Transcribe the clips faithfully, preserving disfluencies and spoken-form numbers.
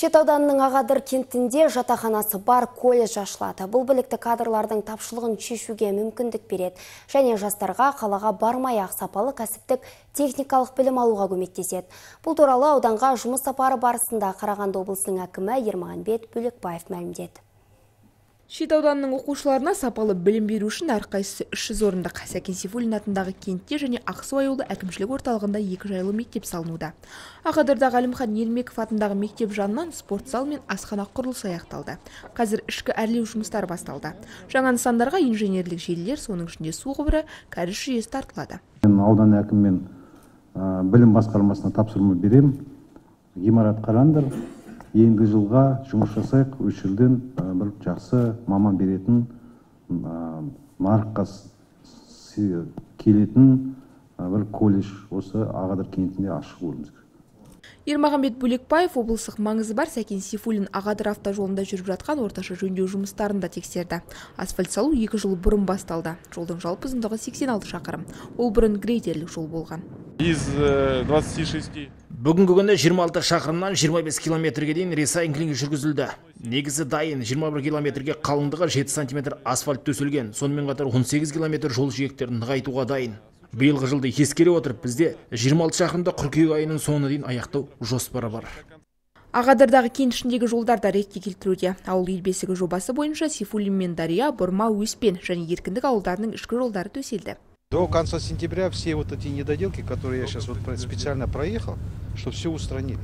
Шет ауданының Ағадыр кентінде жатақханасы бар колледж ашылады. Бұл білікті кадрлардың тапшылығын шешуге мүмкіндік береді. Және жастарға қалаға бармай-ақ сапалы кәсіптік техникалық білім алуға көмектеседі. Бұл туралы ауданға жұмыс сапары барысында Қарағанды облысының әкімі Ермағанбет Бөлекбаев мәлімдеді. Шет ауданының оқушыларына сапалы білім беру үшін әрқайсысы үш жүз орындық Сәкен Сейфуллин атындағы кентте және Ақсу ауылы әкімшілік орталығында екі жайлы мектеп салынуда. Ағадырдағы Әлімхан Елмеков атындағы мектеп жанынан спорт зал мен асхана құрылысы аяқталды. Қазір ішкі әрлеу жұмыстары басталды. Жаңа нысандарға инженерлік желілер, соның ішінде су құбыры, кәріз жүйесі тартылады. Аудан әкіммен білім басқармасына тапсырма берем. Ғимарат қараңдар. Енді жылға жұмыс жасайық, үш жылдан бір жақсы маман беретін, нарыққа келетін бір колледж осы Ағадыр кентінде ашық көруіміз керек. Ермағанбет Бөлекбаев облыстық маңызы бар Сәкен Сейфуллин Ағадыр автожолында жүріп жатқан орташа жөндеу жұмыстарын да тексерді. Асфальт салу екі жыл бұрын басталды. Жолдың жалпы ұзындығы сексен алты шақырым. Ол бұрын грейдерлік жол болған. Из двадцати шести Бүгінгі күні жиырма алты шақырымнан жиырма бес километрге дейін ресайклинг жүргізілді. Негізі дайын жиырма бір километрге қалыңдығы жеті сантиметр асфальт төселген. Сонымен қатар он сегіз километр жол жиектерін нығайтуға дайын. Биылғы жылды ескере отырып, бізде жиырма алты шақырымда қыркүйек айының соңына дейін аяқтау жоспары бар. Ағадырдағы кент ішіндегі жолдарда ретке келтіруде. Ауыл ел бесігі жобасы бойынша Сейфуллин мен Дария, Бұрма, Өспен және Еркіндік ауылдарының ішкі жолдары төселді. До конца сентября все вот эти недоделки, которые я сейчас вот специально проехал, чтобы все устранили.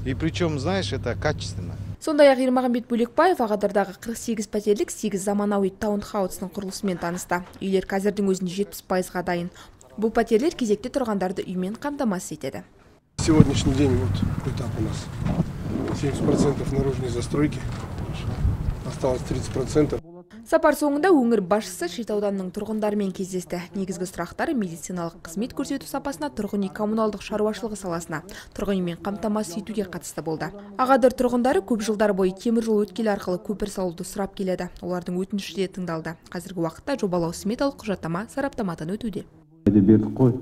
И причем, знаешь, это качественно. Сондай-ақ Ермағанбет Бөлекбаев Ағадырдағы қырық сегіз пәтерлік сегіз заманауи таунхаусының құрылысымен танысты. Үйлер қазірдің өзінде жетпіс пайызға дайын. Бұл пәтерлер кезекте тұрғандарды үймен қамтамасыз етеді. Сегодняшний день вот этап у нас семьдесят процентов наружной застройки, осталось тридцать процентов. Сапар соңында өңір басшысы шет ауданының тұрғындарымен кездесті. Негізгі сұрақтары медициналық қызмет көрсету сапасына, тұрғын үй коммуналдық шаруашылығы саласына, тұрғын үймен қамтамасыз етуге қатысты болды. Ағадыр тұрғындары көп жылдар бойы темір жол өткелі арқылы көпір салуды сұрап келеді. Олардың өтініші де тыңдалды. Қазіргі уақытта жобалау сметалық құжаттама сараптамадан өтуде. Бердік қой,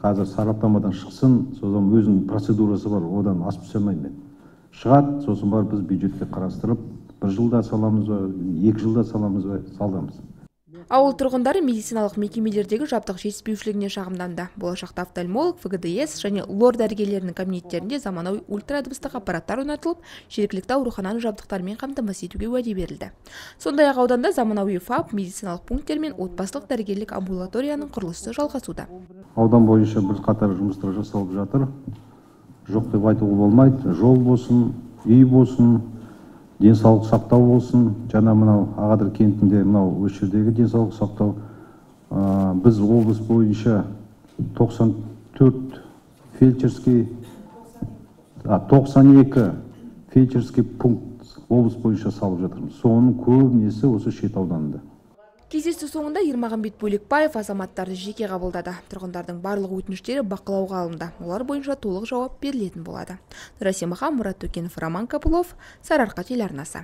қазір сараптамадан шықсын, сосын өзінің процедурасы бар, одан асып түсе алмаймын. Шығады, сосын бар біз бюджетке қарастырып, бір жылда саламыз ба, екі жылда саламыз ба, салдамыз. Ауыл тұрғындары медициналық мекемелердегі жабдық жетіспеушілігіне шағымданды. Болашақта офтальмолог, Ф Г Д С және лор дәрігерлерінің кабинеттерінде заманауи ультрадыбыстық аппараттар орнатылып, жергілікті аурухананың жабдықтарымен қамтамасыз етуге уәде берілді. Сондай-ақ ауданда заманауи ФАП, медициналық пункттер мен отбасылық дәрігерлік амбулаторияның құрылысы жалғасуда. Аудан бойынша бір қатар жұмыстар жасалып жатыр. Жоқ деп айтуға болмайды. Жол болсын, үй болсын, денсаулық сақтау болсын, жаңа мынау Ағадыр кентінде мынау осы жердегі денсаулық сақтау. Біз облыс бойынша тоқсан төрт фельдшерский, тоқсан екі фельдшерский пункт облыс бойынша салып жатырмыз. Соның көбінесі осы шет ауданында. Кездесу соңында Ермағанбет Бөлекбаев азаматтарды жеке қабылдады. Тұрғындардың барлық өтініштері бақылауға алынды. Олар бойынша толық жауап берілетін болады. Нұрасем Аға, Мұрат Төкенов, Роман Капылов, Сарыарқа телеарнасы.